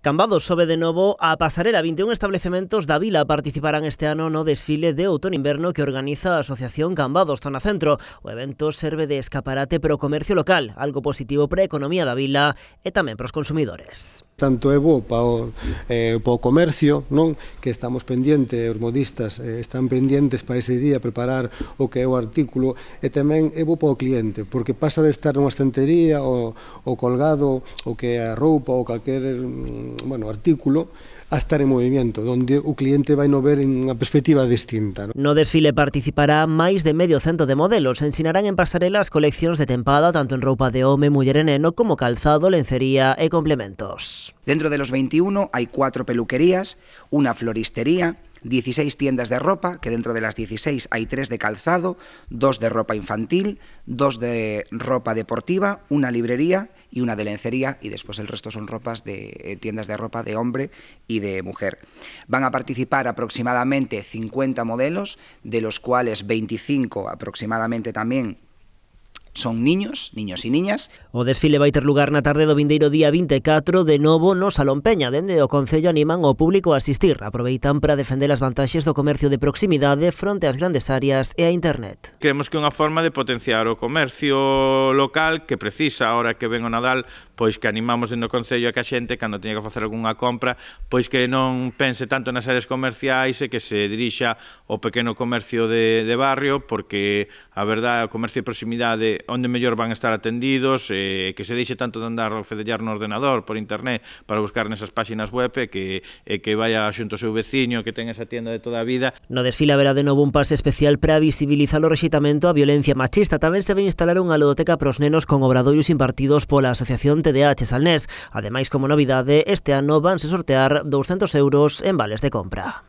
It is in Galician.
Cambados sobe de novo a pasarela. 21 establecementos da vila participarán este ano no desfile de outono-inverno que organiza a Asociación Cambados Zona Centro. O evento serve de escaparate para o comercio local, algo positivo para a economía da vila e tamén para os consumidores. Tanto é bo para o comercio, non? Que estamos pendientes, os modistas están pendientes para ese día preparar o que é o artículo, e tamén é bo para o cliente, porque pasa de estar nunha estantería o colgado o que é a roupa ou calquer artículo a estar en movimento, onde o cliente vai no ver en unha perspectiva distinta. No desfile participará máis de medio cento de modelos. Ensinarán en pasarela as coleccións de tempada tanto en roupa de home, muller e neno como calzado, lencería e complementos. Dentro de los 21 hay 4 peluquerías, una floristería, 16 tiendas de ropa, que dentro de las 16 hay 3 de calzado, 2 de ropa infantil, 2 de ropa deportiva, una librería y una de lencería, y después el resto son ropas de tiendas de ropa de hombre y de mujer. Van a participar aproximadamente 50 modelos, de los cuales 25 aproximadamente también son niños y niñas. O desfile vai ter lugar na tarde do vindeiro día 24 de novo no Salón Peña. Dende o Concello animan ao público a asistir. Aproveitan para defender as vantaxes do comercio de proximidade fronte ás grandes áreas e a internet. Creemos que é unha forma de potenciar o comercio local que precisa, ahora que ven o Nadal, pois que animamos dentro do Concello a que a xente, cando teña que facer algunha compra, pois que non pense tanto nas áreas comerciais e que se dirixa ao pequeno comercio de barrio, porque a verdade, o comercio de proximidade onde mellor van a estar atendidos, que se deixe tanto de andar a fedellar no ordenador, por internet, para buscar nesas páxinas web, que vaya xunto ao seu veciño, que ten esa tienda de toda a vida. No desfile haberá de novo un pase especial para visibilizar o rexeitamento á violencia machista. Tamén se vai instalar unha ludoteca para os nenos con obradoios impartidos pola Asociación TDH Salnés. Ademais, como novidade, este ano vanse sortear 200 € en vales de compra.